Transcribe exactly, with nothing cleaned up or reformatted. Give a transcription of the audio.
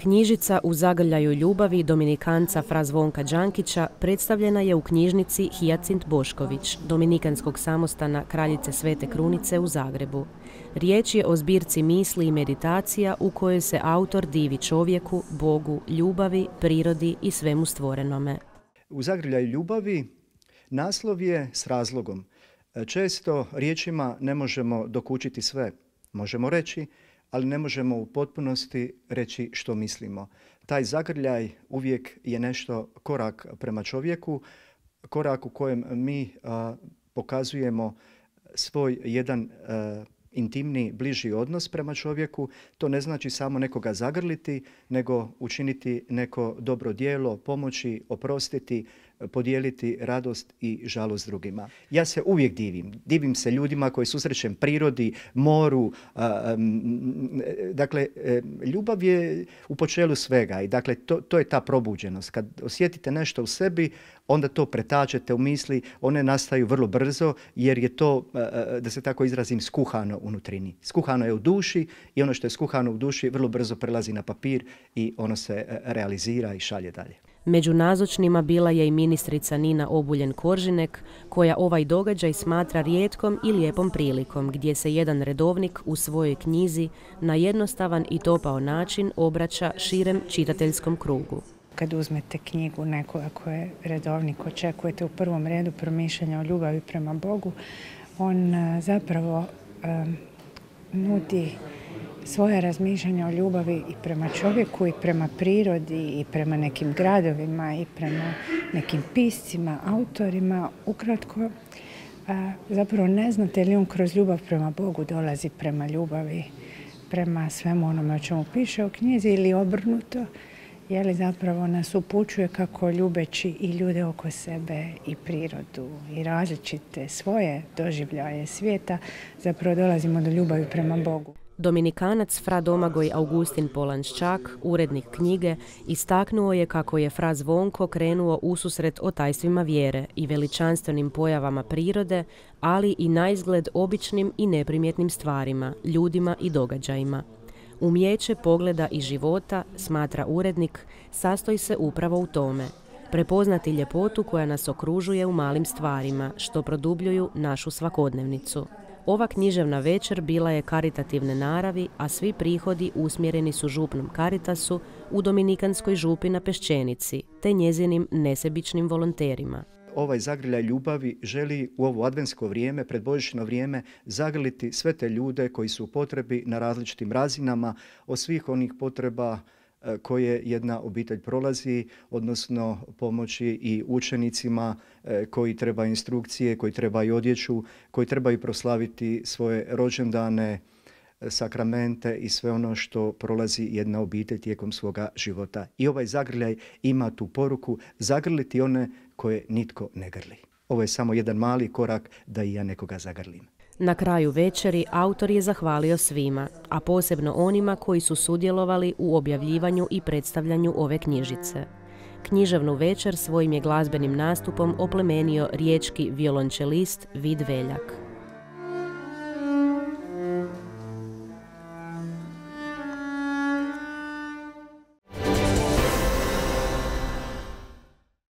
Knjižica U zagrljaju ljubavi dominikanca fra Zvonka Đankića predstavljena je u knjižnici Hijacint Bošković, dominikanskog samostana Kraljice Svete Krunice u Zagrebu. Riječ je o zbirci misli i meditacija u kojoj se autor divi čovjeku, Bogu, ljubavi, prirodi i svemu stvorenome. U zagrljaju ljubavi naslov je s razlogom. Često riječima ne možemo dokučiti sve. Možemo reći, ali ne možemo u potpunosti reći što mislimo. Taj zagrljaj uvijek je nešto korak prema čovjeku, korak u kojem mi a, pokazujemo svoj jedan a, intimni, bliži odnos prema čovjeku. To ne znači samo nekoga zagrliti, nego učiniti neko dobro djelo, pomoći, oprostiti, podijeliti radost i žalost drugima. Ja se uvijek divim. Divim se ljudima koji susrećem prirodi, moru. A, m, dakle, ljubav je u počelu svega i dakle, to, to je ta probuđenost. Kad osjetite nešto u sebi, onda to pretačete u misli, one nastaju vrlo brzo jer je to, da se tako izrazim, skuhano unutrini. Skuhano je u duši i ono što je skuhano u duši vrlo brzo prelazi na papir i ono se realizira i šalje dalje. Među nazočnima bila je i ministrica Nina Obuljen-Koržinek, koja ovaj događaj smatra rijetkom i lijepom prilikom, gdje se jedan redovnik u svojoj knjizi na jednostavan i topao način obraća širem čitateljskom krugu. Kad uzmete knjigu nekoga ko je redovnik, očekujete u prvom redu promišljanja o ljubavi prema Bogu, on zapravo um, nudi svoje razmišljanja o ljubavi i prema čovjeku i prema prirodi i prema nekim gradovima i prema nekim piscima, autorima. Ukratko, a, zapravo ne znate li on kroz ljubav prema Bogu dolazi prema ljubavi, prema svemu onome o čemu piše u knjizi ili obrnuto, je li zapravo nas upućuje kako ljubeći i ljude oko sebe i prirodu i različite svoje doživljaje svijeta zapravo dolazimo do ljubavi prema Bogu. Dominikanac fra Domagoj Augustin Polanščak, urednik knjige, istaknuo je kako je fra Zvonko krenuo ususret o tajstvima vjere i veličanstvenim pojavama prirode, ali i naizgled običnim i neprimjetnim stvarima, ljudima i događajima. Umijeće pogleda i života, smatra urednik, sastoji se upravo u tome. Prepoznati ljepotu koja nas okružuje u malim stvarima, što produbljuju našu svakodnevnicu. Ova književna večer bila je karitativne naravi, a svi prihodi usmjereni su župnom Caritasu u Dominikanskoj župi na Peščenici, te njezinim nesebičnim volonterima. Ovaj zagrljaj ljubavi želi u ovo adventsko vrijeme, predbožićno vrijeme, zagrliti sve te ljude koji su u potrebi na različitim razinama, od svih onih potreba koje jedna obitelj prolazi, odnosno pomoći i učenicima koji trebaju instrukcije, koji trebaju odjeću, koji trebaju proslaviti svoje rođendane, sakramente i sve ono što prolazi jedna obitelj tijekom svoga života. I ovaj zagrljaj ima tu poruku zagrliti one koje nitko ne grli. Ovo je samo jedan mali korak da i ja nekoga zagrlim. Na kraju večeri autor je zahvalio svima, a posebno onima koji su sudjelovali u objavljivanju i predstavljanju ove knjižice. Književnu večer svojim je glazbenim nastupom oplemenio riječki violončelist Vid Veljak.